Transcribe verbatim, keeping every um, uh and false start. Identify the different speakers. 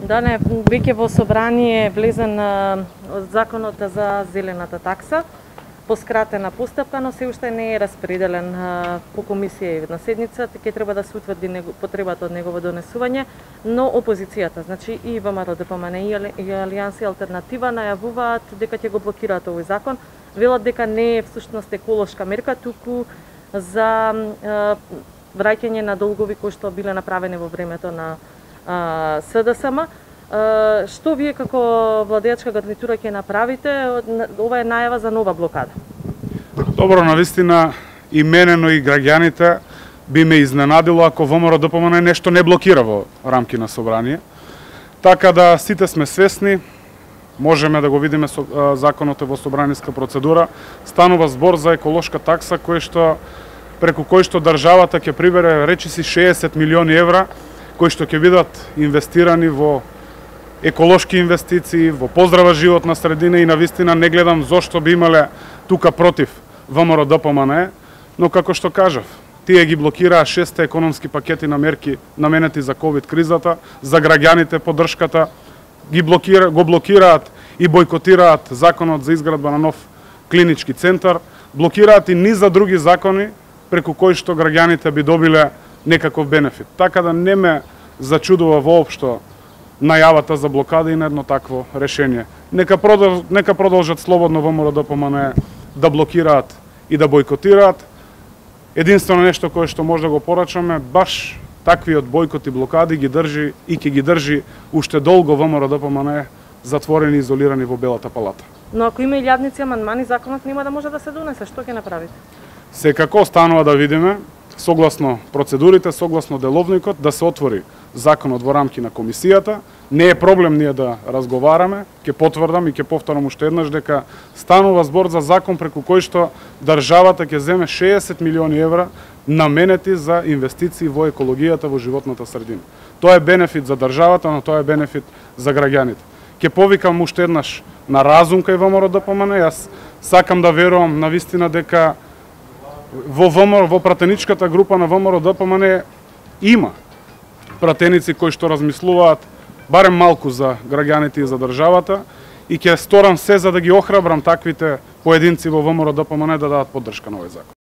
Speaker 1: Да, не, веќе во собрание влезен законот за зелената такса по скратена постапка, но се уште не е распределен по комисија на седница, ќе треба да се утврди потребата од негово донесување, но опозицијата, значи и ВМРО Д П М Н и Алијанса Алтернатива најавуваат дека ќе го блокираат овој закон, велат дека не е всушност еколошка мерка, туку за враќање на долгови кои што биле направени во времето на С Д С М. Што вие како владеачка гарнитура ќе направите? Ова е најава за нова блокада.
Speaker 2: Добро, навистина и мене, но и граѓаните би ме изненадило ако ВМРО Д П М Н нешто не блокира во рамки на собрание. Така да сите сме свесни, можеме да го видиме со законот во собраниска процедура, станува збор за еколошка такса кој што преку кој што државата ќе прибере речиси шеесет милиони евра кои што ќе бидат инвестирани во еколошки инвестиции, во поздрава животна средина и навистина не гледам зошто би имале тука против ВМРО Д П М Н, но како што кажав, тие ги блокираа шесте економски пакети на мерки наменети за ковид кризата, за граѓаните поддршката, ги блокира, го блокираат и бойкотираат законот за изградба на нов клинички центар, блокираат и низ за други закони преку кои што граѓаните би добиле некаков бенефит. Така да не ме зачудува воопшто најавата за блокада и на едно такво решение. Нека продолжат, нека продолжат слободно ВМРО Д П М Н да блокираат и да бойкотираат. Единствено нешто кое што може да го порачаме, баш таквиот бойкот и блокади ги држи и ќе ги држи уште долго ВМРО Д П М Н затворени и изолирани во Белата палата.
Speaker 1: Но ако има илјадници амандмани, законот нема да може да се донесе. Што ќе направите?
Speaker 2: Секако останува да видиме, согласно процедурите, согласно деловникот, да се отвори законот во рамки на комисијата. Не е проблем ние да разговараме, ќе потврдам и ќе повторам уште еднаш дека станува збор за закон преку кој што државата ќе земе шеесет милиони евра наменети за инвестиции во екологијата во животната средина. Тоа е бенефит за државата, но тоа е бенефит за граѓаните. Ќе повикам уште еднаш на разум кај ВМРО Д П М Н. Јас сакам да верувам навистина дека во ВМРО, во пратеничката група на ВМРО Д П М Н има пратеници кои што размислуваат барем малку за граѓаните и за државата и ќе сторам се за да ги охрабрам таквите поединци во ВМРО Д П М Н да дадат поддршка на овој закон.